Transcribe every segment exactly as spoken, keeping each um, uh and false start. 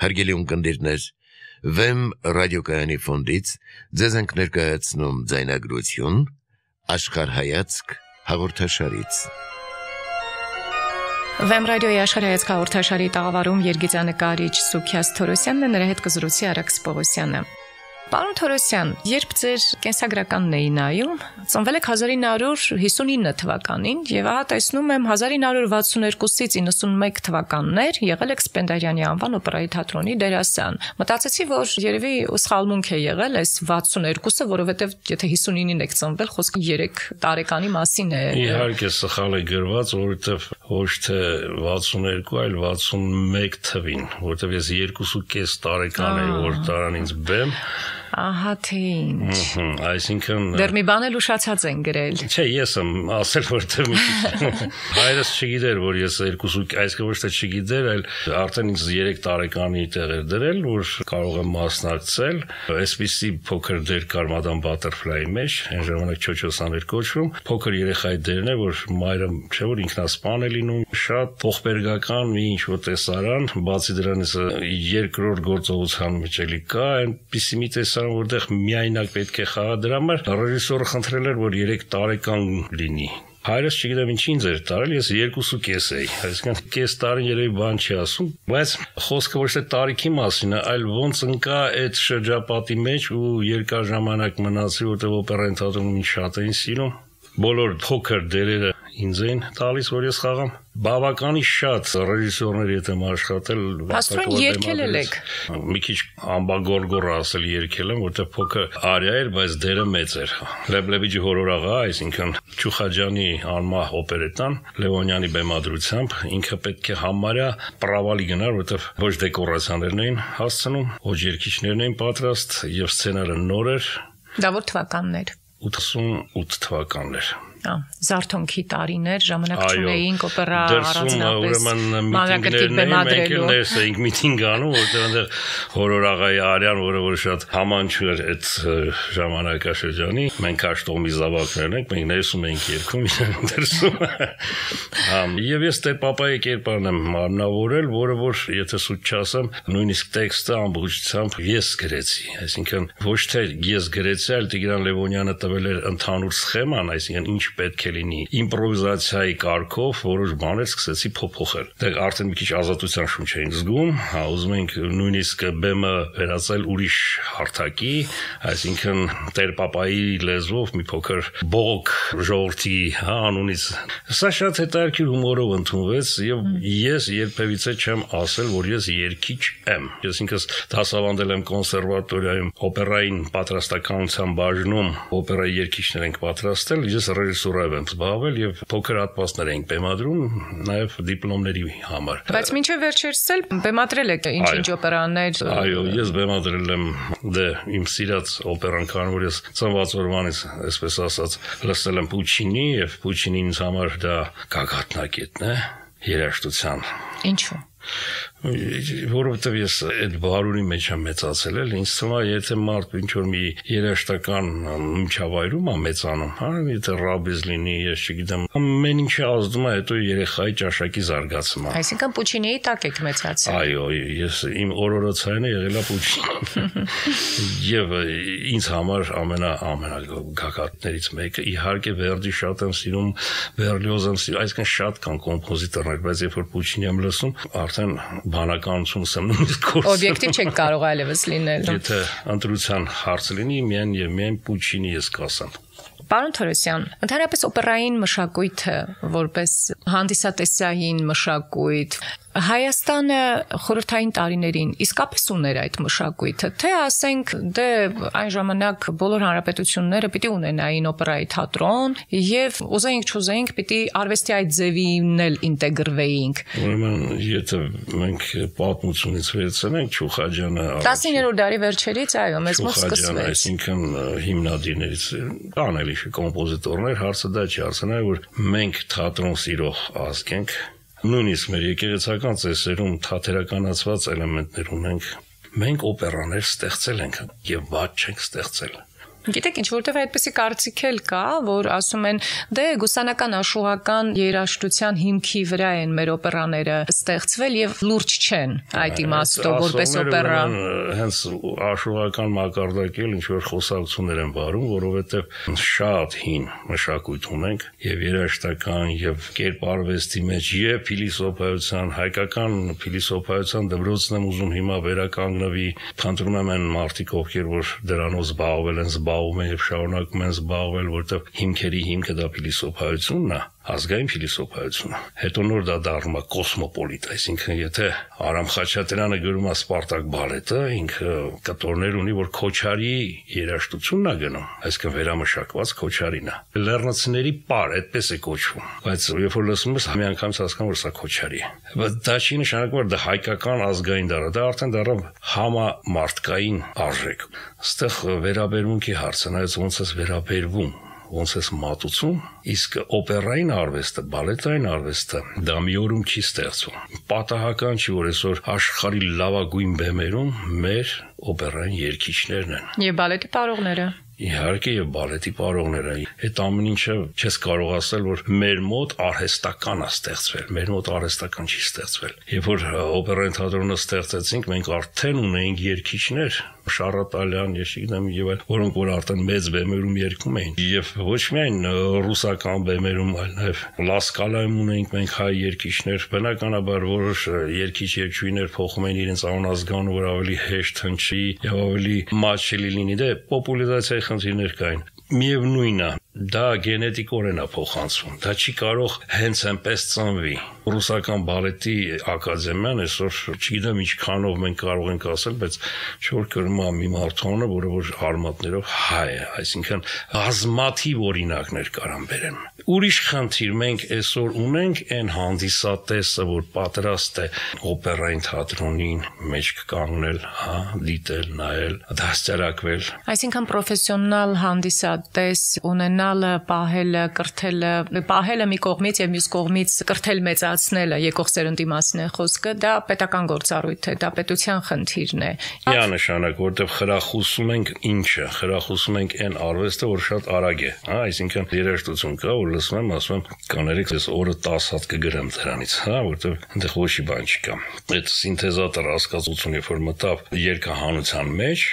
Հարգելի ունկնդիրներ, Վեմ ռադիոկայանի ֆոնդից ձեզ ենք ներկայացնում ձայնագրություն Աշխարհայացք հաղորդաշարից։ Վեմ ռադիոյի Աշխարհայացք հաղորդաշարի տաղավարում երգիծանկարիչ Սուքիաս Թորոսյանն է, նրա հետ կզրուցի Արաքս Պողոսյանը։ Պարոն Թորոսյան, երբ ձեր կենսագրականն էի նայում, ծնվել եք հազար ինը հարյուր հիսունինը թվականին եւ ահա տեսնում եմ հազար ինը հարյուր վաթսունհարկուից իննսունմեկ թվականներ եղել եք Սպենդիարյանի անվան օպերայի թատրոնի դերասան։ Մտածեցի, որ երևի սխալմունք է եղել այս վաթսունհարկուը, որովհետեւ եթե հիսունինին եք ծնվել, խոսքը երեք տարեկանի մասին է։ Իհարկե սխալ է գրված, որովհետեւ ոչ թե վաթսունհարկ, այլ վաթսունմեկ թվին, որովհետեւ ես երկուսուկես տարեկան էի, որ տարան ինձ բեմ։ Ահա թե ինչ։ Այսինքն դեռ մի բան էլ ուշացած են գրել։ Չէ, ես եմ ասել, որ թե հայրս չգիտեր, որ ես երկուսուկ, այսինքն ոչ թե չգիտեր, այլ արդեն ինձ երեք տարեկանի տեղ էր դրել, որ կարող եմ մասնակցել։ Այսպիսի փոքր դեր կար Մադամ Բատերֆլայի մեջ, այն ժամանակ Չոչոսան էր կոչվում, փոքր երեխայի դերն է, որ մայրը չէ որ ինքնասպան է լինում, շատ ողբերգական մի ինչ-որ տեսարան, բացի դրանից երկրորդ գործողության մեջ էլի կա, այնպիսի մի տեսարան որտեղ միայնակ պետք է խաղա, դրա համար ռեժիսորը խնդրել էր, որ երեք տարեկան լինի։ Հայրս չգիտեմ ինչ ինձ էր տարել, ես երկուսուկես էի, այսինքն կես տարին երևի բան չի ասում, բայց խոսքը ոչ թե տարիքի մասին է, այլ ոնց ընկա այդ շրջապատի մեջ ու երկար ժամանակ մնացի, որտեղ օպերային թատրոնում ինձ շատ էին սիրում, բոլոր փոքր դերերը ինձ էին տալիս, որ ես խաղամ։ Բավականին շատ ռեժիսորներ եթե աշխատել, Աստորեն երգել եք։ Մի քիչ ամբագորգոր ասել երգել եմ, որտեղ փոքր արիա էր, բայց դերը մեծ էր։ Լեբլեբիջի հորորաղա, այսինքն Չուխաջյանի անմահ օպերետան Լևոնյանի բեմադրությամբ ինքը պետք է համարյա պրավալի գնար, որտեղ ոչ դեկորացիաներն էին հասցնում, ոչ երգիչներն էին պատրաստ եւ սցենարը նոր էր։ Դա որ թվականներ։ ութսունութ թվականներ։ Զարթոնքի տարիներ, ժամանակ չունեինք օպերա առանձնապես մանրակրկիտ բեմադրելու։ Ներս էինք միտինգ անում, որտեղ այնտեղ հորորաղայի արյան, որը որ շատ համանչու էր այդ ժամանակաշրջանի, մենք աշտողմի զավակներն ենք, մենք ներսում էինք երգում, դրսում։ Եվ ես Տեր-Պապայի կերպարն եմ մարմնավորել, որը որ եթե սուտ չասեմ, նույնիսկ տեքստը ամբողջությամբ ես գրեցի, այսինքն ոչ թե ես գրեցի, այլ Տիգրան Լևոնյանը տվել էր ընդհանուր սխեման, այսինքն ինչ պետք է լինի իմպրովիզացիայի կարգով որոշ բաներ սկսեցի փոփոխել։ Դե արդեն մի քիչ ազատության շունչ էինք զգում, հա ուզում ենք նույնիսկ բեմը վերածել ուրիշ հարթակի, այսինքն Տեր-Պապայի լեզվով մի փոքր բողոք ժողովրդի հա անունից։ Սա շատ հետաքրքիր հումորով ընդունվեց եւ ես երբևիցե չեմ ասել, որ ես երգիչ եմ։ Ես ինքս դասավանդել եմ կոնսերվատորիայում օպերային պատրաստականության բաժնում, օպերայի երգիչներ ենք պատրաստել, ես ռեժիսուրայով եմ զբաղվել եւ փոքր հատվածներ ենք բեմադրում, նաեւ դիպլոմների համար։ Բայց մինչեւ վերջերս էլ բեմադրել եք ինչ-ինչ օպերաներ։ Այո, ես բեմադրել եմ դե իմ սիրած օպերան, քանի որ ես ծնված օրվանից, այսպես ասած, լսել եմ Պուչինի եւ Պուչինին ինձ համար դա գագաթնակետն է երաժշտության։ Ինչու՞։ Որովհետև ես այդ բարուրի մեջ եմ մեծացել, էլ ինձ թվում է, եթե մարդ ինչ որ մի երաժշտական միջավայրում է մեծանում, հա, եթե ռաբիզ լինի, ես չգիտեմ, ամեն ինչը ազդում է հետո երեխայի ճաշակի զարգացման։ Այսինքն Պուչինիի տակ եք մեծացել։ Այո, ես իմ օրորոցայինը եղել է Պուչին։ Եվ ինձ համար ամենա ամենագագաթներից մեկը իհարկե Վերդի շատ եմ սիրում, Բերլիոզ եմ սիրում, այսինքն շատ կան կոմպոզիտորներ, բայց երբ որ Պուչինի եմ լսում, արդեն բանականությունս եմ նույնիսկ կորցնում։ Օբյեկտիվ չեք կարող այլևս լինել։ Եթե ընտրության հարց լինի, միայն եւ միայն Պուչինի ես կասեմ։ Պարոն Թորոսյան, ընդհանրապես օպերային մշակույթը որպես հանդիսատեսային մշակույթ Հայաստանը խորհրդային տարիներին իսկապես ուներ այդ մշակույթը, թե ասենք դե այն ժամանակ բոլոր հանրապետությունները պիտի ունենային օպերայի թատրոն եւ ուզեինք չուզեինք պիտի արվեստի այդ ձևին էլ ինտեգրվեինք։ Ուրեմն եթե մենք պատմությունից վերցնենք Չուխաջյանը տասնիններորդ դարի վերջերից, այո, մեզ մոտ սկսվեց։ Այսինքն հիմնադիրներից կան էլի կոմպոզիտորներ, հարցը դա չի, հարցը նա որ մենք թատրոն սիրող ազգ ենք, նույնիսկ մեր եկեղեցական ծեսերում թատերականացված էլեմենտներ ունենք, մենք օպերաներ ստեղծել ենք եւ ված չենք ստեղծել։ Գիտեք, ինչ որտեղ այդպեսի կարծիք էլ կա, որ ասում են, դե գուսանական աշուղական երաժշտության հիմքի վրա են մեր օպերաները ստեղծվել եւ լուրջ չեն այդ իմաստով որպես օպերա։ Հենց աշուղական մակարդակել ինչ որ խոսակցություններ են վարում, որովհետեւ շատ հին մշակույթ ունենք եւ երաժշտական եւ կերպարվեստի մեջ եւ փիլիսոփայության, հայկական փիլիսոփայության դպրոցն եմ ուզում հիմա վերականգնվի, փնտրում եմ այն մարդիկ, ովքեր որ դրանով զբաղվել են, զբաղվում են եւ շարունակում են զբաղվել, որտեղ հիմքերի հիմքը դա փիլիսոփայությունն է, ազգային փիլիսոփայությունը։ Հետո նոր դա դառնում է կոսմոպոլիտ, այսինքն եթե Արամ Խաչատրյանը գրում է Սպարտակ բալետը, ինքը կտորներ ունի, որ Քոչարի երաժշտությունն է գնում, այսինքն վերամշակված Քոչարին է։ Լեռնացիների պար, այդպես է կոչվում, բայց երբ որ լսում ես, մի անգամից հասկանում որ սա Քոչարի է։ Բայց դա չի նշանակում, որ դա հայկական ազգային դառը, դա արդեն դառավ համամարտկային արժեք։ Այստեղ վերաբերմունքի հարցը, նայած ոնց է վերաբերվում, ոնց է մատուցում, իսկ օպերային արվեստը, բալետային արվեստը դա մի օրում չի ստեղծվում։ Պատահական չի, որ այսօր աշխարհի լավագույն բեմերում մեր օպերային երգիչներն են։ Եվ բալետի պարողները։ Իհարկե եւ բալետի պարողները, այդ ամեն ինչը չես կարող ասել, որ մեր մոտ արհեստական է ստեղծվել, մեր մոտ արհեստական չի ստեղծվել։ Երբ որ օպերային թատրոնը ստեղծեցինք, մենք արդեն ունեինք երգիչներ, Շարատալյան, ես չգիտեմ եւ այլ, որոնք որ արդեն մեծ բեմերում երգում էին։ Եվ ոչ միայն ռուսական բեմերում, այլ նաեւ Լասկալայում ունեինք մենք հայ երգիչներ, բնականաբար որոշ երգիչ-երգչուհիներ փոխում էին իրենց անազգանունը, որ ավելի հեշտ հնչի եւ ավելի մատչելի լինի, դե պոպուլարիզացիայի խնդիրներ կային։ Միևնույնն է, դա գենետիկորեն է փոխանցվում, դա չի կարող հենց այնպես ծնվի։ Ռուսական բալետի ակադեմիան այսօր չգիտեմ ինչքանով մենք կարող ենք ասել, բայց չոր կրում է մի մարդանը, որը որ արմատներով հայ է, այսինքն բազմաթիվ օրինակներ կարան բերեմ։ Ուրիշ խնդիր մենք այսօր ունենք այն հանդիսատեսը, որ պատրաստ է օպերային թատրոնին մեջ կանգնել, հա, դիտել, նայել, դաստիարակվել։ Այսինքն պրոֆեսիոնալ հանդիսատես ունենալը, պահելը, կրթելը, պահելը մի կողմից եւ մյուս կողմից կրթել մեծացնելը, եկող սերունդի մասին է խոսքը, դա պետական գործառույթ է, դա պետության խնդիրն է։ Միանշանակ, որտեղ խրախուսում ենք ինչը, խրախուսում ենք այն արվեստը, որ շատ արագ է, հա, այսինքն երաժշտություն կա, որ լսում եմ, ասում եմ, կաներեք ես օրը տասը հատ կգրեմ դրանից, հա, որտեղ այնտեղ ոչ մի բան չկա։ Այդ սինթեզատոր հասկացությունը, երբ որ մտավ երգահանության մեջ,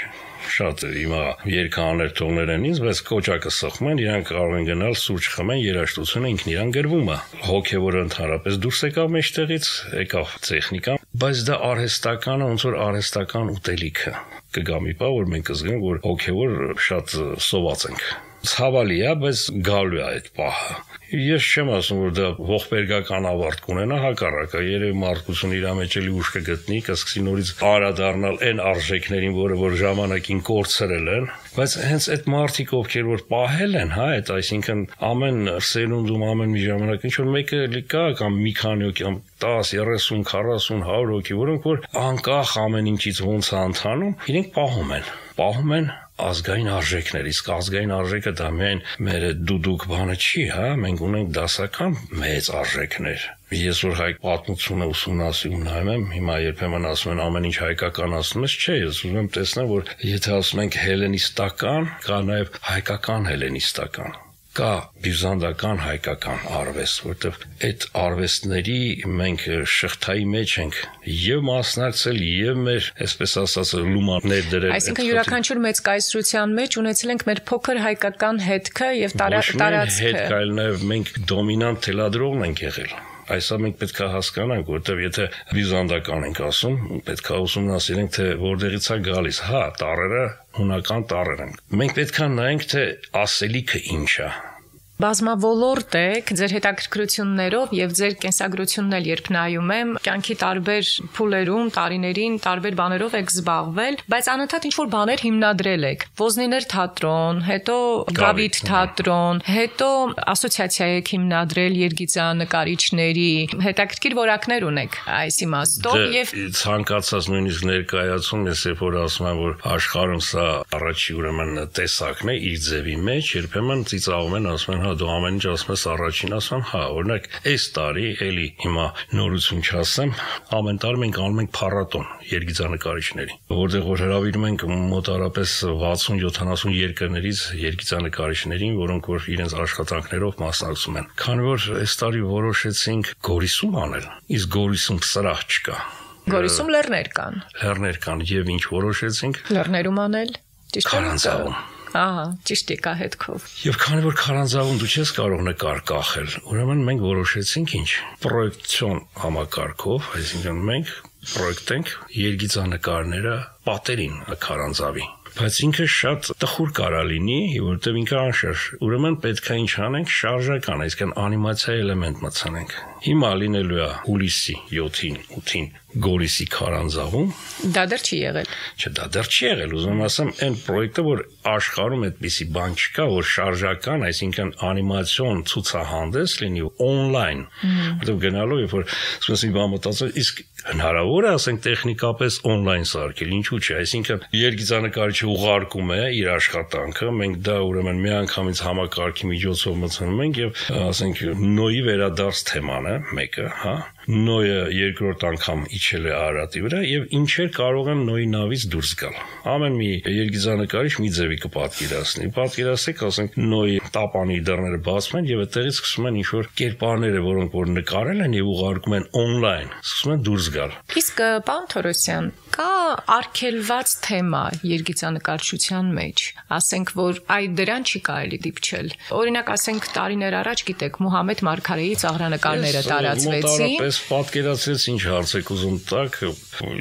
շատ հիմա երգահաներ թողներ են ինձ, բայց կոճակը սխում են, իրանք կարող են գնալ սուրճ խմեն, երաժշտությունը ինքն իրան գրվում է։ Հոգևորը ընդհանրապես դուրս եկավ մեջտեղից, եկավ տեխնիկան, բայց դա արհեստականը ոնց որ արհեստական ուտելիքը։ Կգա մի բան, որ մենք կզգանք, որ հոգևոր շատ սոված ենք։ Ցավալի է, բայց գալու է այդ պահը։ Ես չեմ ասում, որ դա ողբերգական ավարտ կունենա, հակառակը, երևի մարդկությունը իր մեջ էլի ուժ կգտնի, կսկսի նորից անդրադառնալ այն արժեքներին, որը որ ժամանակին կորցրել են, բայց հենց այդ մարդիկ, ովքեր որ պահել են, հա, այդ այսինքն ամեն սերունդում, ամեն մի ժամանակ ինչ որ մեկը էլի կա կամ մի քանի հոգի, տասը, երեսուն, քառասուն, հարյուր հոգի, որոնք որ անկախ ամեն ինչից ոնց է ընթանում, իրենք պահում են, պահում են ազգային արժեքներ, իսկ ազգային արժեքը դա միայն մեր դուդուկ բանը չի, հա, մենք ունենք դասական մեծ արժեքներ։ Ես որ հայ պատմությունը ուսումնասիրում նայում եմ, հիմա երբեմն ասում են ամեն ինչ հայկականացնում ես, չէ, ես ուզում եմ տեսնել, որ եթե ասում ենք հելենիստական, կա նաև հայկական հելենիստական։ Կա բյուզանդական հայկական արվեստ, որտեղ այդ արվեստների մենք շղթայի մեջ ենք եւ մասնակցել եւ մեր, այսպես ասած, լումաններ դրել։ Այսինքն յուրաքանչյուր մեծ կայսրության մեջ ունեցել ենք մեր փոքր հայկական հետքը եւ տարածքը։ Հետ կայլ նաեւ մենք դոմինանտ թելադրողն ենք եղել։ Այսա մենք պետք է հասկանանք, որտեղ եթե բյուզանդական ենք ասում, պետք է ուսումնասիրենք, թե որտեղից է գալիս։ Հա, տառերը հունական տառեր են։ Մենք պետք է նայենք, թե ասելիքը ինչ է։ Բազմավոլորտ եք ձեր հետաքրքրություններով եւ ձեր կենսագրությունն էլ երբ նայում եմ, կյանքի տարբեր փուլերում, տարիներին տարբեր բաներով եք զբաղվել, բայց անընդհատ ինչ-որ բաներ հիմնադրել եք։ Ոզնիներ թատրոն, հետո Գավիթ թատրոն, հետո ասոցիացիա եք հիմնադրել երգիծանկարիչների, հետաքրքիր որակներ ունեք այս իմաստով եւ ցանկացած նույնիսկ ներկայացում ես երբ որ ասում եմ, որ աշխարհում սա առաջի ուրեմն տեսակն է իր ձևի մեջ, երբեմն ծիծաղում են, ասում են հա դու ամեն ինչ ասում ես առաջին, ասում հա, օրինակ, այս տարի էլի հիմա նորություն չասեմ, ամեն տարի մենք անում ենք փառատոն երգիծանկարիչների, որտեղ որ հրավիրում ենք մոտարապես վաթսուն յոթանասուն երկրներից երգիծանկարիչներին, որոնք որ իրենց աշխատանքներով մասնակցում են։ Քանի որ այս տարի որոշեցինք Գորիսում անել, իսկ Գորիսում սրահ չկա։ Գորիսում լեռներ կան։ Լեռներ կան եւ ինչ որոշեցինք։ Լեռներում անել։ Ճիշտ է։ Քարանձավում։ Ահա, ճիշտ է հետքով։ Եվ քանի որ քարանձավում դու չես կարող նկար կախել, ուրեմն մենք որոշեցինք ինչ, պրոյեկցիոն համակարգով, այսինքն մենք պրոյեկտենք երգիծանկարները պատերին քարանձավի։ Բայց ինքը շատ տխուր կարա լինի, որովհետև ինքը անշարժ։ Ուրեմն պետք է ինչ անենք, շարժական, այսինքն անիմացիա էլեմենտ մտցնենք։ Հիմա լինելու է հուլիսի յոթին, ութին Գորիսի քարանձավում։ Դա դեռ չի եղել։ Չէ, դա դեռ չի եղել, ուզում ասեմ, այն պրոյեկտը, որ աշխարհում այդպիսի բան չկա, որ շարժական, այսինքն անիմացիոն ցուցահանդես լինի on-line, որտեղ գնալով երբ որ ասես մի բան մտածել, իսկ հնարավոր է ասենք տեխնիկապես on-line սարքել, ինչու՞ չէ, այսինքն երգիծանկարիչը ուղարկում է իր աշխատանքը, մենք դա ուրեմն միանգամից համակարգի միջոցով մտցնում ենք եւ ասենք նոյի վերադարձ թեման է մեկը, հա Նոյը երկրորդ անգամ իջել է Արարատի վրա եւ ինչեր կարող են նոյի նավից դուրս գալ։ Ամեն մի երգիծանկարիչ մի ձևի կպատկերացնի։ Պատկերացեք, ասենք նոյի տապանի դռները բացվում են եւ այդտեղից սկսում են ինչ-որ կերպարները, որոնք որ նկարել են եւ ուղարկում են on-line, սկսում են դուրս գալ։ Իսկ պարոն Թորոսյան, կա արգելված թեմա երգիծանկարչության մեջ, ասենք որ այ դրան չի կարելի դիպչել։ Օրինակ, ասենք տարիներ առաջ, գիտեք, Մուհամեդ Մարգարեի ծաղրանկարները տարածվեցին։ Պատկերացրեց ինչ հարց եք ուզում տակ,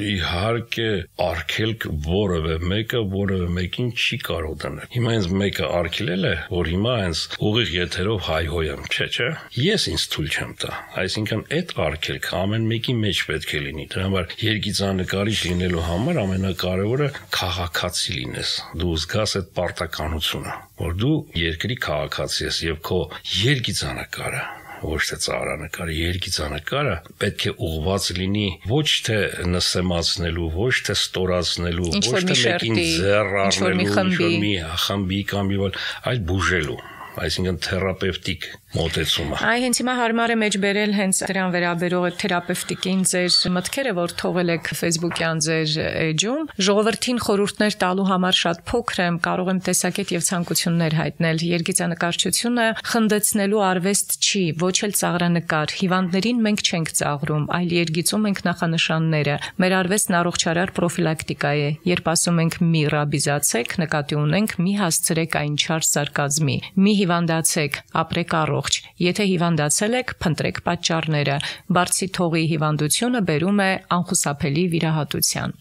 իհարկե արգելք որևէ մեկը որևէ մեկին չի կարող դնել։ Հիմա ինձ մեկը արգելել է, որ հիմա ինձ ուղիղ եթերով հայհոյեմ, չէ, չէ։ Ես ինձ թույլ չեմ տա։ Այսինքն այդ արգելքը ամեն մեկի մեջ պետք է լինի։ Դրա համար երգիծանկարիչ լինելու համար ամենակարևորը քաղաքացի լինես։ Դու զգաս այդ պարտականությունը, որ դու երկրի քաղաքացի ես եւ քո երգիծանկարը ոչ թե ծաղրանկարը, երգիծանկարը պետք է ուղղված լինի ոչ թե նսեմացնելու, ոչ թե ստորացնելու, ոչ թե մեկին ձեռ առնելու, ինչ-որ մի խմբի կամ մի բան, այլ բուժելու, այսինքն թերապևտիկ մոտեցումը։ Այ հենց հիմա հարմար է մեջ բերել հենց դրան վերաբերող այդ թերապևտիկին ձեր մտքերը, որ թողել եք Facebook-յան ձեր էջում, ժողովրդին խորհուրդներ տալու համար շատ փոքր եմ, կարող եմ տեսակետ եւ ցանկություններ հայտնել։ Երգիծանկարչությունը խնդեցնելու արվեստ չի, ոչ էլ ծաղրանկար։ Հիվանդներին մենք չենք ծաղրում, այլ երգիծում ենք նախանշանները։ Մեր արվեստն առողջարար պրոֆիլակտիկա է։ Երբ ասում ենք մի ռաբիզացեք, նկատի ունենք մի հասցրեք այն չար սարկազմի, մի հիվանդացեք, ապրեք առողջ։ Եթե հիվանդացել եք, փնտրեք պատճառները։ Բարձի թողի հիվանդությունը բերում է անխուսափելի վիրահատության։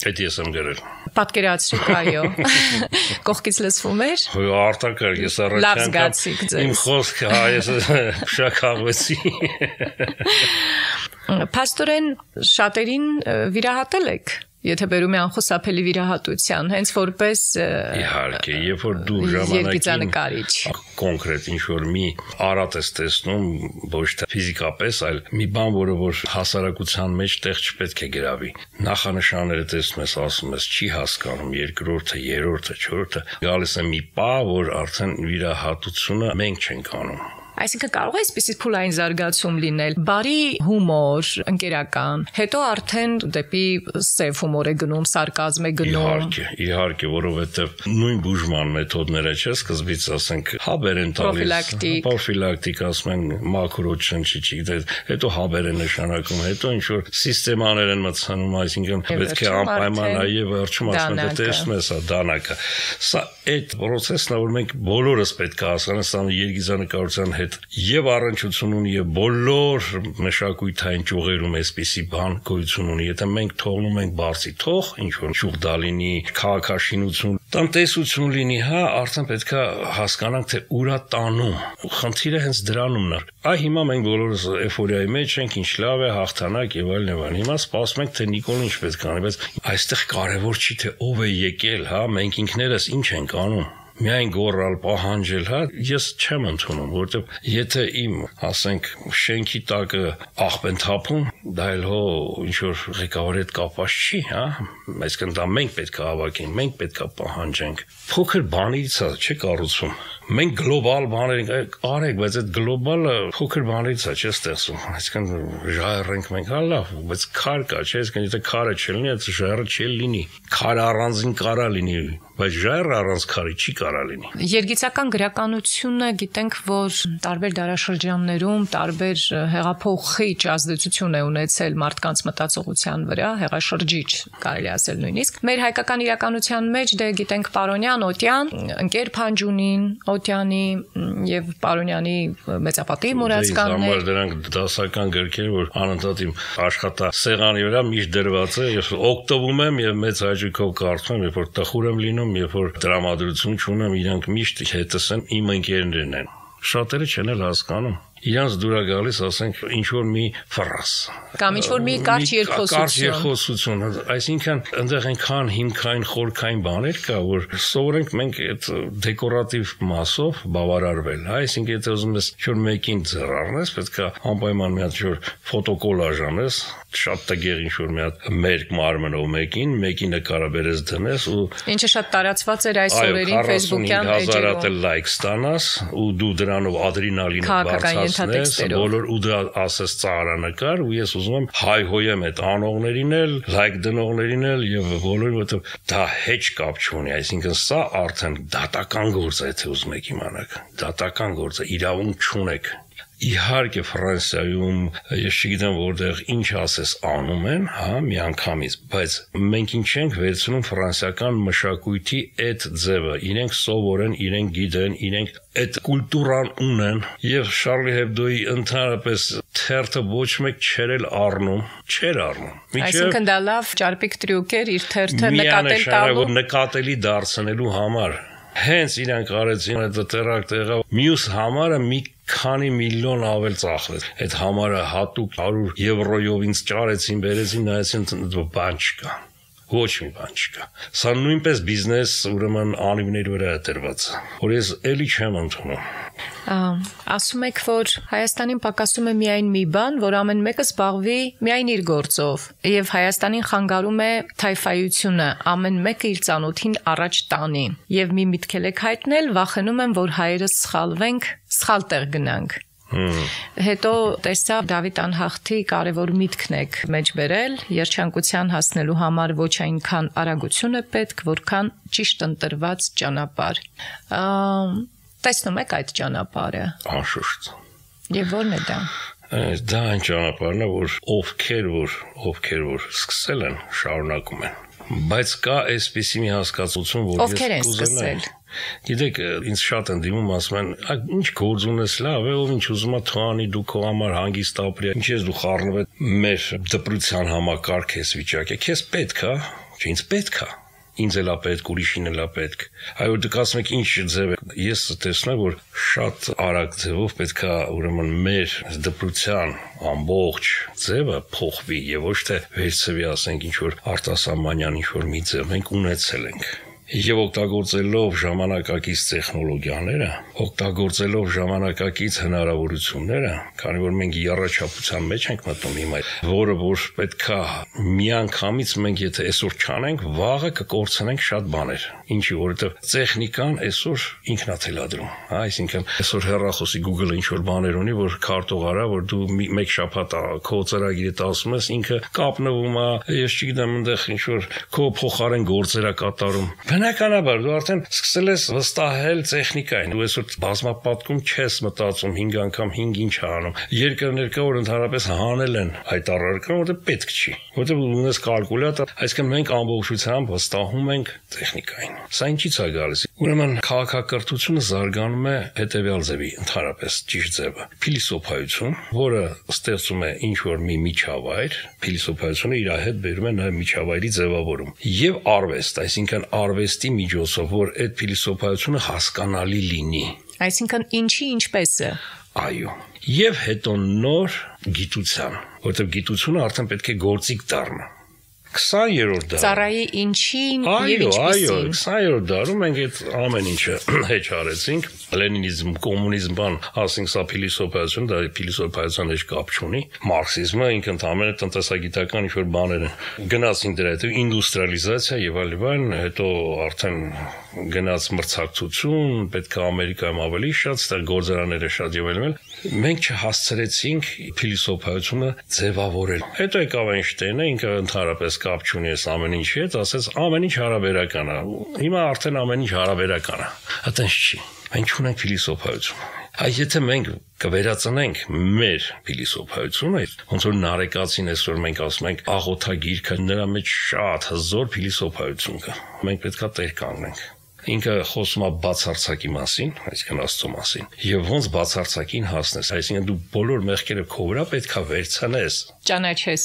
Այդ ես եմ գրել։ Պատկերացրեք, այո։ Կողքից լսվում էր։ Արտակարգ, ես առաջին իմ խոսքը հայես շաքաղվեցի։ Փաստորեն շատերին վիրահատել եք։ Եթե բերում է անխուսափելի վիրահատության, հենց որպես իհարկե, երբ որ դու ժամանակին կոնկրետ ինչ-որ մի արատ ես տեսնում, ոչ թե ֆիզիկապես, այլ մի բան, որը որ հասարակության մեջ տեղ չպետք է գրավի։ Նախանշանները տեսնում ես, ասում ես, չի հասկանում, երկրորդը, երրորդը, չորրորդը, գալիս է մի պահ, որ արդեն վիրահատությունը մենք չենք անում։ Այսինքն կարող է այսպիսի փուլային զարգացում լինել, բարի հումոր, ընկերական, հետո արդեն դեպի սև հումոր է գնում, սարկազմ է գնում։ Իհարկե, իհարկե, որովհետև նույն բուժման մեթոդները չէ, սկզբից ասենք հաբեր են տալիս, պրոֆիլակտիկ, ասում են մակրոջ շնչիչի, հետո հաբեր են նշանակում, հետո ինչ որ սիստեմաներ են մտցնում, այսինքն պետք է անպայման այ վերջում ասում են տեսնում ես դանակը։ Սա այդ process-ն է, որ մենք բոլորս պետք է հասկանանք, սա երգիծանկարության հետ եւ առնչություն ունի եւ բոլոր մշակույթային ճյուղերում այսպիսի բան գոյություն ունի։ Եթե մենք թողնում ենք բարձի թող, ինչ որ ճյուղ լինի, քաղաքաշինություն, տնտեսություն լինի, հա, արդեն պետք է հասկանանք, թե ուր է տանում։ Խնդիրը հենց դրանումն է։ Այ հիմա մենք բոլորս էֆորիայի մեջ ենք, ինչ լավ է, հաղթանակ եւ այլն եւ այլն։ Հիմա սպասում ենք, թե Նիկոլն ինչ պետք է անի, բայց այստեղ կարեւոր չի թե ով է եկել, հա, մենք ինքներս ինչ ենք անում։ միայն գոռալ, պահանջել, հա, ես չեմ ընդունում, որովհետև եթե իմ, ասենք, շենքի տակը աղբ են թափում, դա էլ հո ինչ որ ղեկավարի հետ կապված չի, հա, այսինքն դա մենք պետք է հավաքենք, մենք պետք է պահանջենք։ Փոքր բանից է, չի կառուցում։ Մենք գլոբալ բաներ ենք արեք, բայց այդ գլոբալը փոքր բաներից է, չէ՞ ստեղծում։ Այսինքն ժայռենք մենք, հա լավ, բայց քար կա, չէ՞, այսինքն եթե քարը չլինի, այդ ժայռը չի լինի։ Քարը առանձին կարա լինի, բայց ժայռը առանց քարի չի կարա լինի։ Երգիծական գրականությունը գիտենք, որ տարբեր դարաշրջաններում տարբեր հեղափոխիչ ազդեցություն է ունեցել մարդկանց մտածողության վրա, հեղաշրջիչ կարելի ասել նույնիսկ։ Մեր հայկական իրականության մեջ դե գիտենք Պարոնյան, Օտյան, Ընկեր Փանջունին, Օտյանի եւ Պարոնյանի մեծապատի մուրացկաններ։ Դրանք դրանք դասական գրքեր, որ անընդհատ իմ աշխատասեղանի վրա միշտ դրված է, ես օգտվում եմ եւ մեծ հաճույքով կարդում եմ, երբ որ տխուր եմ լինում, երբ որ դրամատուրգություն չունեմ, իրանք միշտ հետս են, իմ ընկերներն են։ Շատերը չեն էլ հասկանում։ Իրանց դուր է գալիս, ասենք, ինչ որ մի ֆրազ կամ ինչ որ մի կարճ երկխոսություն։ Կարճ երկխոսություն, այսինքն այնտեղ այնքան հիմքային խորքային բաներ կա, որ սովորենք մենք այդ դեկորատիվ մասով բավարարվել, հա, այսինքն եթե ուզում ես ինչ որ մեկին ձեռ առնես, պետք է անպայման մի հատ ինչ որ ֆոտոկոլաժ անես, շատ տգեղ ինչ որ մի հատ մերկ մարմնով մեկին, մեկի նկարը բերես դնես ու ինչը շատ տարածված էր այս օրերին Facebook-յան էջերում լայք ստանաս ու դու դրանով ադրենալինը բարձրացնես, բոլոր ու դա ասես ծաղրանկար ու ես ուզում եմ հայհոյեմ այդ անողներին էլ, լայք դնողներին էլ եւ բոլորին, որովհետեւ դա հեչ կապ չունի, այսինքն սա արդեն դատական գործ է, եթե ուզում եք իմանալ, դատական գործ է, իրավունք չունեք։ Իհարկե Ֆրանսիայում ես չգիտեմ որտեղ ինչ ասես անում են, հա, միանգամից, բայց մենք ինչ ենք վերցնում ֆրանսիական մշակույթի այդ ձևը, իրենք սովորեն, իրենք գիտեն, իրենք այդ կուլտուրան ունեն եւ Շարլի Հեբդոյի ընդհանրապես թերթը ոչ մեկ չէր էլ առնում, չէր առնում։ Այսինքն դա լավ ճարպիկ տրյուկ էր իր թերթը նկատել տալու, նկատելի դարձնելու համար։ Հենց իրանք արեցին այդ տեղակ տեղը մյուս համարը մի քանի միլիոն ավել ծախվեց։ Այդ համարը հատուկ հարյուր եվրոյով ինձ ճարեցին, բերեցին, նայեցին, բան չկա։ Ոչ մի բան չկա։ Սա նույնպես բիզնես, ուրեմն անիվների վրա է դրված, որ ես էլի չեմ ընդունում։ Ասում եք, որ Հայաստանին պակասում է միայն մի բան, որ ամեն մեկը զբաղվի միայն իր գործով, եւ Հայաստանին խանգարում է թայֆայությունը, ամեն մեկը իր ծանոթին առաջ տանի, եւ մի միտքել եք հայտնել, վախենում եմ, որ հայերս սխալվենք, սխալ տեղ գնանք։ Հետո տեսա Դավիթ Անհախտի կարևոր միտքն եք մեջ բերել, երջանկության հասնելու համար ոչ այնքան արագություն է պետք, որքան ճիշտ ընտրված ճանապարհ։ Տեսնում եք այդ ճանապարհը։ Անշուշտ։ Եվ ո՞րն է դա։ Դա այն ճանապարհն է, որ ովքեր որ ովքեր որ սկսել են, շարունակում են։ Բայց կա այսպիսի մի հասկացություն, որ ովքեր են սկսել։ Գիտեք, ինձ շատ են դիմում, ասում են, ինչ գործ ունես լավ է, ով ինչ ուզում է թողանի, դու քո համար հանգիստ ապրի, ինչ ես դու խառնվել մեր դպրության համակարգ ես վիճակը, քեզ պետք է, չէ, ինձ պետք է։ Ինձ էլ է պետք, ուրիշին էլ է պետք։ Այո, դուք ասում եք ինչ ձև է։ Ես տեսնում եմ, որ շատ արագ ձևով պետք է ուրեմն մեր դպրության ամբողջ ձևը փոխվի եւ ոչ թե վերցվի, ասենք, ինչ որ արտասահմանյան ինչ որ մի ձև մենք ունեցել ենք։ Եվ օգտագործելով ժամանակակից տեխնոլոգիաները, օգտագործելով ժամանակակից հնարավորությունները, քանի որ մենք եռաչափության մեջ ենք մտնում հիմա, որը որ պետքա միանգամից մենք եթե այսօր չանենք, վաղը կկորցնենք շատ բաներ։ Ինչի, որովհետև տեխնիկան այսօր ինքն է թելադրում, հա, այսինքն այսօր հեռախոսի Google-ը ինչ որ բաներ ունի, որ քարտող արա, որ դու մեկ շաբաթ քո ծրագիրը ասում ես, ինքը կապնվում է, ես չգիտեմ, այնտեղ ինչ որ քո փոխարեն գործեր է կատարում։ Բնականաբար դու արդեն սկսել ես վստահել տեխնիկային։ Դու այսօր բազմապատկում չես մտածում հինգ անգամ հինգ ինչ անում։ Երկրներ կա, որ ընդհանրապես հանել են այդ առարկան, որտեղ պետք չի։ Որտեղ ունես կալկուլյատոր, այսինքն մենք ամբողջությամբ վստահում ենք տեխնիկային։ Սա ինչից է գալիս։ Ուրեմն քաղաքակրթությունը զարգանում է հետևյալ ձևի, ընդհանրապես ճիշտ ձևը։ Փիլիսոփայություն, որը ստեղծում է ինչ որ մի միջավայր, փիլիսոփայությունը իր հետ բերում է նաև միջավայրի ձևավորում։ Եվ արվեստ, այսինքն արվեստի միջոցով, որ այդ փիլիսոփայությունը հասկանալի լինի։ Այսինքն ինչի ինչպես է։ Այո։ Եվ հետո նոր գիտության, որտեղ գիտությունը արդեն պետք է գործիք դառնա։ քսաներորդ դարում։ Ծառայի ինչին եւ Այո, այո, ինչպեսին։ քսաներորդ դարում մենք այդ ամեն ինչը հեչ արեցինք։ Լենինիզմ, կոմունիզմ, բան, ասենք սա փիլիսոփայություն, դա փիլիսոփայության հետ կապ չունի։ Մարքսիզմը ինքն ընդհանրապես տնտեսագիտական ինչ-որ բաներ են։ Գնացին դրա հետ ինդուստրիալիզացիա եւ այլն, հետո արդեն գնաց մրցակցություն, պետք է Ամերիկայում ավելի շատ, ստեղ գործարանները շատ եւ այլն։ Մենք չհասցրեցինք փիլիսոփայությունը ձևավորել։ Հետո եկավ Էյնշտեյնը, ինքը ընդհանրապես կապ չունի այս ամեն ինչի հետ, ասեց ամեն ինչ հարաբերական է։ Հիմա արդեն ամեն ինչ հարաբերական է։ Այդպես չի։ Մենք չունենք փիլիսոփայություն։ Այս եթե մենք կվերածնենք մեր փիլիսոփայությունը, ոնց որ նարեկացին այսօր մենք ասում ենք աղոթագիրքը, նրա մեջ շատ հզոր փիլիսոփայություն կա։ Մենք պետքա տեր կանգնենք։ Ինքը խոսում է բացարձակի մասին, այսինքն Աստծո մասին, եւ ոնց բացարձակին հասնես, այսինքն դու բոլոր մեղքերը քո վրա պետքա վերցնես, Ճանաչես։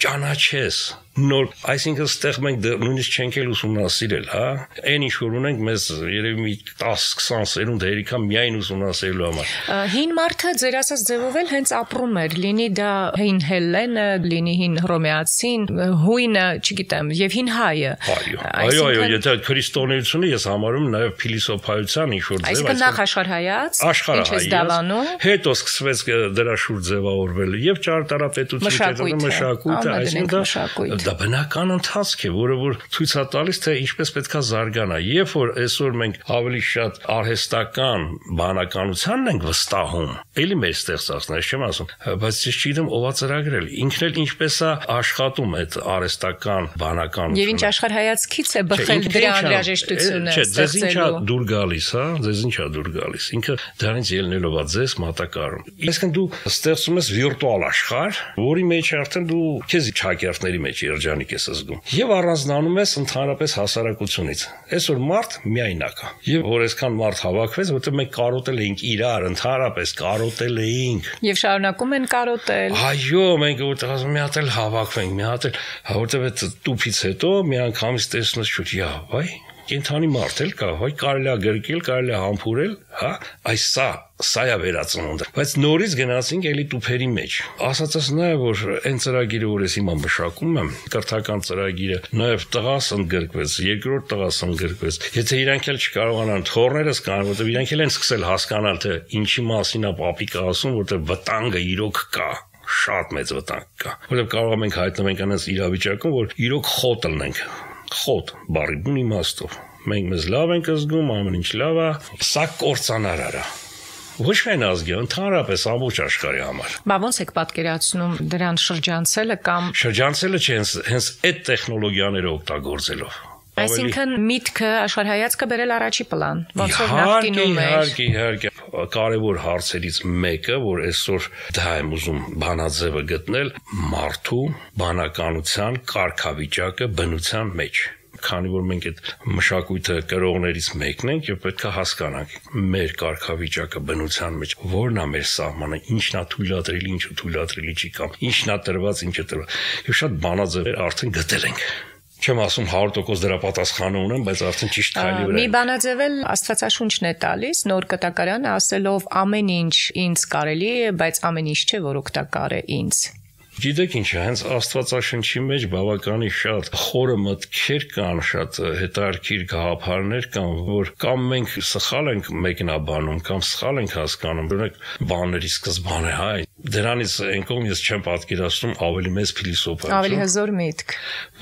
ճանաչես, նոր, այսինքն ստեղ մենք նույնիսկ չենք էլ ուսումնասիրել, հա, այն ինչ որ ունենք մեզ երևի մի տասը քսան սերունդ հերիքա միայն ուսումնասիրելու համար։ Հին մարդը ձեր ասած ձևով էլ հենց ապրում էր, լինի դա հին հելլենը, լինի հին հռոմեացին, հույնը, չգիտեմ, եւ հին հայը։ Այո, այո, այո, եթե քրիստոնեությունը ես համարում նաեւ փիլիսոփայության ինչ որ ձև, Այսինքն նախ աշխարհայաց, աշխարհայաց, հետո սկսվեց դրա շուրջ ձևավորվել եւ ճարտարապետությունը, մշակույթը, այսինքն դա բնական ընթացք է, որը որ ցույց է տալիս, թե ինչպես պետքա զարգանա։ Երբ որ այսօր մենք ավելի շատ արհեստական բանականությանն ենք վստահում, էլի մեր ստեղծածն է, չեմ ասում, բայց ես չգիտեմ ով է ծրագրել, ինքն էլ ինչպես է աշխատում այդ արհեստական բանականությունը։ Եվ ինչ աշխարհայացքից է բխել դրա անհրաժեշտությունը ստեղծելու։ Չէ, ձեզ ինչա դուր գալիս, հա, ձեզ ինչա դուր գալիս։ Ինքը դրանից ելնելով է ձեզ մատակարարում։ Այսինքն դու ստեղծում ես վիրտուալ աշխարհ, որի մեջ արդեն դու քեզ ճակերտների մեջ երջանիկ ես զգում։ Եվ առանձնանում ես ընդհանրապես հասարակությունից։ Այսօր մարդ միայնակ է։ Եվ որ այսքան մարդ հավաքվեց, որտեղ մենք կարոտել էինք իրար, ընդհանրապես կարոտել էինք։ Եվ շարունակում են կարոտել։ Այո, մենք որտեղ ասում մի հատ էլ հավաքվենք, մի հատ էլ, որտեղ այդ տուփից հետո մի անգամից տեսնես շուտ, «Յա, վայ, կենթանի մարդ էլ կա, վայ, կարելի է գրկել, կարելի է համբուրել, հա, այս սա, սա է վերածնունդը»։ Բայց նորից գնացինք էլի տուփերի մեջ։ Ասածս նաև որ այն ծրագիրը, որ ես հիմա մշակում եմ, կրթական ծրագիրը, նաև տղաս ընդգրկվեց, երկրորդ տղաս ընդգրկվեց։ Եթե իրանք էլ չկարողանան թորներս կան, որտեղ իրանք էլ են սկսել հասկանալ, թե ինչի մասին է պապիկը ասում, որտեղ վտանգը իրոք կա։ Շատ մեծ վտանգ կա, որտեղ կարող ենք հայտնվենք այնպես իրավիճակում, որ իրոք խոտ լնենք։ Խոտ, բարի բուն իմաստով։ Մենք մեզ լավ ենք զգում, ամեն ինչ լավ է, սա կործանարար է։ Ոչ միայն ազգի, ընդհանրապես ամբողջ աշխարհի համար։ Բա ոնց եք պատկերացնում դրան շրջանցելը կամ շրջանցելը չէ, հենց այդ տեխնոլոգիաները օգտագործելով։ Այսինքն միտքը աշխարհայացքը բերել առաջի պլան, ոնց որ նախկինում էր։ Իհարկե, իհարկե, կարևոր հարցերից մեկը, որ այսօր դա եմ ուզում բանաձևը գտնել, մարդու բանականության կարգավիճակը բնության մեջ։ Քանի որ մենք այդ մշակույթը կրողներից մեկն ենք եւ պետք է հասկանանք մեր կարգավիճակը բնության մեջ, որն է մեր սահմանը, ինչն է թույլատրելի, ինչը թույլատրելի չի կամ ինչն է տրված, ինչը տրված։ Եվ շատ բանաձևեր արդեն գտել ենք։ Չեմ ասում հարյուր տոկոս դրա պատասխանը ունեմ, բայց արդեն ճիշտ քայլի վրա։ Մի բանաձևել Աստվածաշունչն է տալիս, նոր կտակարանը ասելով ամեն ինչ ինձ կարելի է, բայց ամեն ինչ չէ, որ օգտակար է ինձ։ Գիտեք ինչ է, հենց Աստվածաշնչի մեջ բավականին շատ խորը մտքեր կան, շատ հետաքրքիր գաղափարներ կան, որ կամ մենք սխալ ենք մեկնաբանում, կամ սխալ ենք հասկանում, օրինակ բաների սկզբանը, հա, դրանից այն կողմ ես չեմ պատկերացնում ավելի մեծ փիլիսոփայություն։ Ավելի հզոր միտք։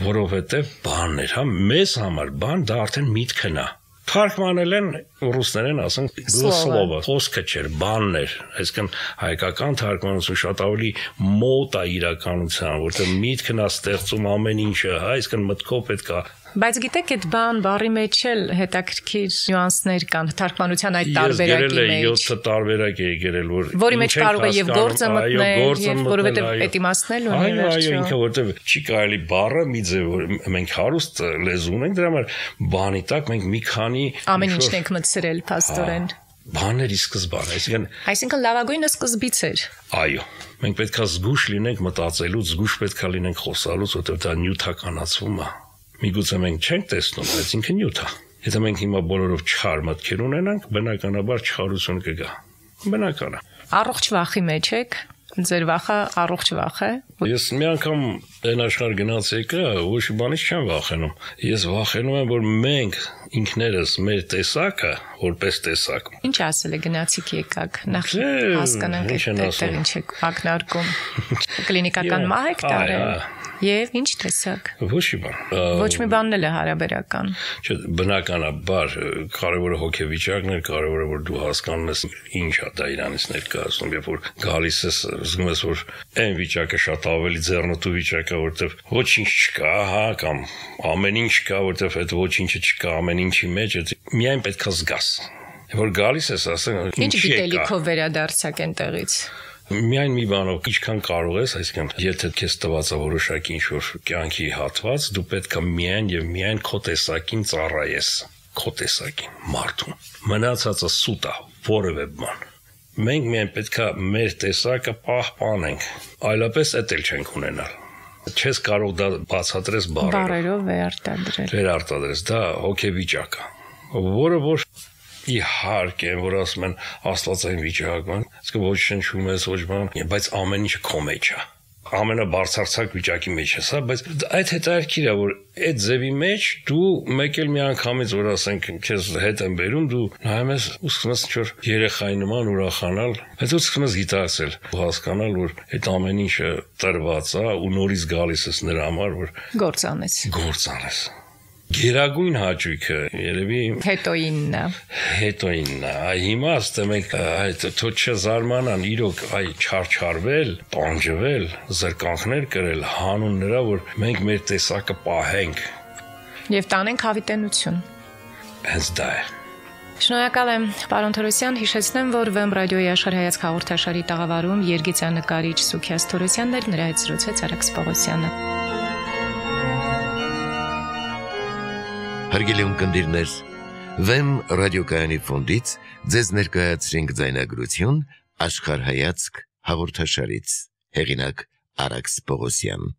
Որովհետև բաններ, հա, մեզ համար բան դա արդեն միտքն է։ Թարգմանել են ռուսներեն ասենք слово, խոսքը չէր, բաններ, այսինքն հայկական թարգմանություն շատ ավելի մոտ է իրականության, որտեղ միտքն է ստեղծում ամեն ինչը, հա, այսինքն մտքով պետք է։ Բայց գիտեք, այդ բան բառի մեջ էլ հետաքրքիր նյուանսներ կան, թարգմանության այդ տարբերակի մեջ։ Ես յոթ տարբերակ էի գրել, որ որի մեջ կարող է եւ գործը մտնել, եւ որովհետեւ այդ իմաստն էլ ունի վերջը։ Այո, ինքը որտեղ չի կարելի բառը մի ձև, որ մենք հարուստ լեզու ունենք, դրա համար բանի տակ մենք մի քանի ամեն ինչն ենք մտցրել փաստորեն։ Բաների սկզբան, այսինքն Այսինքն լավագույնը սկզբից էր։ Այո, մենք պետքա զգուշ լինենք մտածելուց, զգուշ պետքա լինենք խոսալուց, որտեղ դա նյութականացվում է։ Միգուցե մենք չենք տեսնում, բայց ինքը նյութ է։ Եթե մենք հիմա բոլորով չար մտքեր ունենանք, բնականաբար չարություն կգա։ Բնական է։ Առողջ վախի մեջ եք։ Ձեր վախը առողջ վախ է։ Ես մի անգամ այն աշխարհ գնաց եկա, ոչ մի բանից չեմ վախենում։ Ես վախենում եմ, որ մենք ինքներս մեր տեսակը, որպես տեսակ։ Ինչ ասել է գնացիք եկաք, նախ հասկանանք այդտեղ ինչ եք ակնարկում։ Կլինիկական մահ եք տարել։ Եվ ինչ տեսակ։ Ոչ մի բան։ Ոչ մի բանն էլ է հարաբերական։ Չէ, բնականաբար կարևորը հոգեվիճակն է, կարևորը որ դու հասկանում ես ինչ է դա իրանից ներկայացնում, երբ որ գալիս ես, զգում ես որ այն վիճակը շատ ավելի ձեռնտու վիճակ է, որտեվ ոչինչ չկա, հա, կամ ամեն ինչ կա, որտեվ այդ ոչինչը չկա, ամեն ինչի մեջ է, միայն պետքա զգաս։ Որ գալիս ես, ասենք, ինչ գիտելիքով վերադարձակ այնտեղից։ Միայն մի բանով ինչքան կարող ես, այսինքն, եթե քեզ տված է որոշակի ինչ-որ կյանքի հատված, դու պետք է միայն եւ միայն քո տեսակին ծառայես, քո տեսակին, մարդուն։ Մնացածը սուտ է, որևէ բան։ Մենք միայն պետք է մեր տեսակը պահպանենք, այլապես էդ էլ չենք ունենալ։ Չես կարող դա բացատրես բառերով։ Բառերով վերարտադրել։ Վերարտադրես, դա հոգեվիճակ է, որը որ իհարկե, որ ասում են աստվածային վիճակն, իսկ ոչ շնչում ես, ոչ բան, բայց ամեն ինչը քո մեջ է։ Ամենաբարձրացակ վիճակի մեջ ես, հա, բայց այդ հետաքրքիր է, որ այդ ձևի մեջ դու մեկ էլ մի անգամից, որ ասենք, քեզ հետ են բերում, դու նայում ես ու սկսում ես ինչ-որ երեխայի նման ուրախանալ, բայց ու սկսում ես գիտակցել, հասկանալ, որ այդ ամեն ինչը տրված է ու նորից գալիս ես նրա համար, որ գործ անես։ Գործ անես։ Գերագույն հաճույքը երևի հետոինն է։ Հետոինն է։ Հիմա ասեմ եք այդ թո չզարմանան իրոք այ չարչարվել, տանջվել, զրկանքներ կրել հանուն նրա, որ մենք մեր տեսակը պահենք եւ տանենք հավիտենություն։ Հենց դա է։ Շնորհակալ եմ, պարոն Թորոսյան, հիշեցնեմ, որ Վեմ ռադիոյի աշխարհայացք հաղորդաշարի տաղավարում երգիծանկարիչ Սուքիաս Թորոսյանն էր, նրա հետ զրուցեց Արաքս Պողոսյանը։ Հարգելի ունկնդիրներ, Վեմ ռադիոկայանի ֆոնդից ձեզ ներկայացրինք ձայնագրություն աշխարհայացք հաղորդաշարից։ Հեղինակ Արաքս Պողոսյան։